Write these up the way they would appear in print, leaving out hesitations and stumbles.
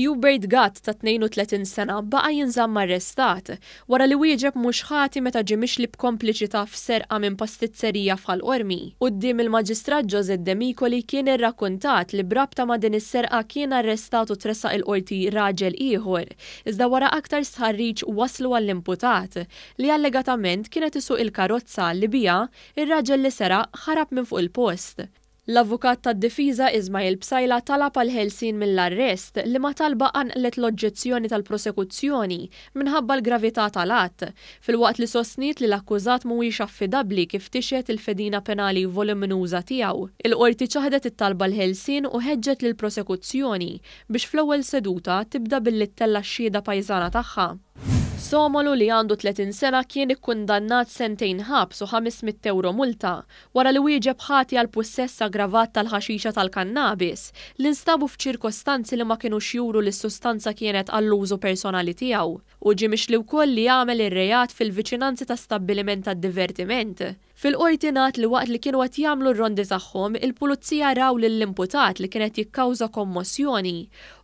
Hubert Gatt ta' 32 sena baqa' jinżamm arrestat wara li wieġeb mhux ħati meta ġie mixli b'kompliċità f'serqa minn pastizzerija f'Ħal Qormi. Quddiem il-Maġistrat Josette Demicoli kien irrakkuntat li b'rabta ma' din is-serqa kien arrestat u tressaq il-Qorti raġel ieħor, iżda wara aktar stħarriġ waslu għall-imputat li allegatament kien qed isuq il-karozza li biha r-raġel li seraq ħarab minn fuq il-post. L-avukat tad-difiża Ismail Psaila talab għall-ħelsien mill-arrest, liema talba qanqlet l-oġġezzjoni tal-prosekuzzjoni minħabba l-gravità tal-att, filwaqt li sostniet li l-akkużat mhuwiex affidabbli kif tixhed il-fedina penali voluminuża tiegħu. Il-Qorti ċaħdet it-talba għall-ħelsien u ħeġġet lill-prosekuzzjoni biex fl-ewwel seduta tibda billi ttella' x-xhieda pajżana tagħha. Somolu li għandu 30 sena kien ikkundannat sentejn ħabs u 500 ewro multa wara li wieġeb ħati għal pussess aggravat tal-ħaxixa tal-kannabis li nstabu f'ċirkostanzi li ma kinux juru li s-sustanza kienet għall-użu personali tiegħu. Hu ġie mixli wkoll li għamel ir-reat fil-viċinanzi ta' stabbiliment tad-divertiment. Fil-Qorti ngħad li waqt li kienu qed jagħmlu r-rondi tagħhom, il-Pulizija raw lill-imputat li kien qed jikkawża kommossjoni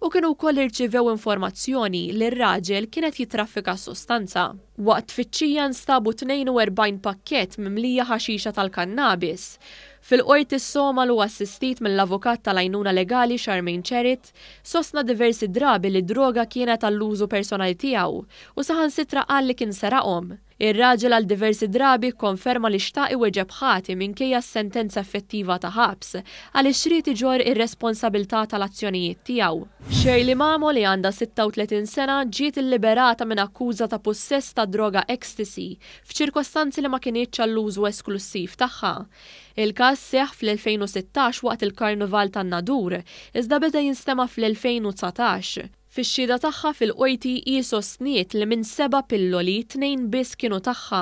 u kienu wkoll irċivew informazzjoni li r-raġel kien qed jittraffika s-sustanza. Waqt tfittxija nstabu 42 pakkett mimlija ħaxixa tal-kannabis. Fil-Qorti s-Somalu assistit mill-avukat tal-għajnuna legali Charmaine Charit sostna diversi drabi li d-droga kienet għall-użu personali tiegħu u saħansitra qal li kien seraqhom. Ir-raġel għal diversi drabi kkonferma li xtaq iwieġeb ħati minkejja s-sentenza effettiva ta' ħabs, għaliex ried iġorr ir-responsabilità tal-azzjonijiet tiegħu. Shirley Mamo li għandha 36 sena ġiet illiberata minn akkuża ta' pussess ta' droga ecstasy f'ċirkostanzi li ma kinitx għall-użu esklussiv tagħha. Il-każ seħħ fl-2016 waqt il-Karnival tan-Nadur, iżda beda jinstema' fl-2019. Fix-xhieda tagħha fil-Qorti hi sostniet li minn seba' pilloli, tnejn biss kienu tagħha,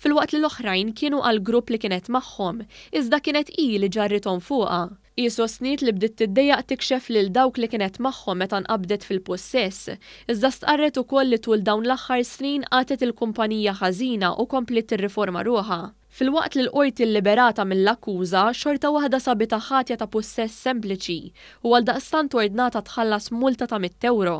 filwaqt li l-oħrajn kienu għall-grupp li kienet magħhom, iżda kienet hi li ġarrithom fuqha. Hi sostniet li bdiet tiddejjaq tikxef lil dawk li kienet magħhom meta nqabdet fil-pussess, iżda stqarret ukoll li tul dawn l-aħħar snin qatgħet il-kumpanija ħażina u kompliet tirriforma ruħha. Filwaqt li l-Qorti lliberatha mill-akkuża, xorta waħda sabitha ħatja ta' pussess sempliċi u għaldaqstant ordnatha tħallas multa ta' mitt ewro.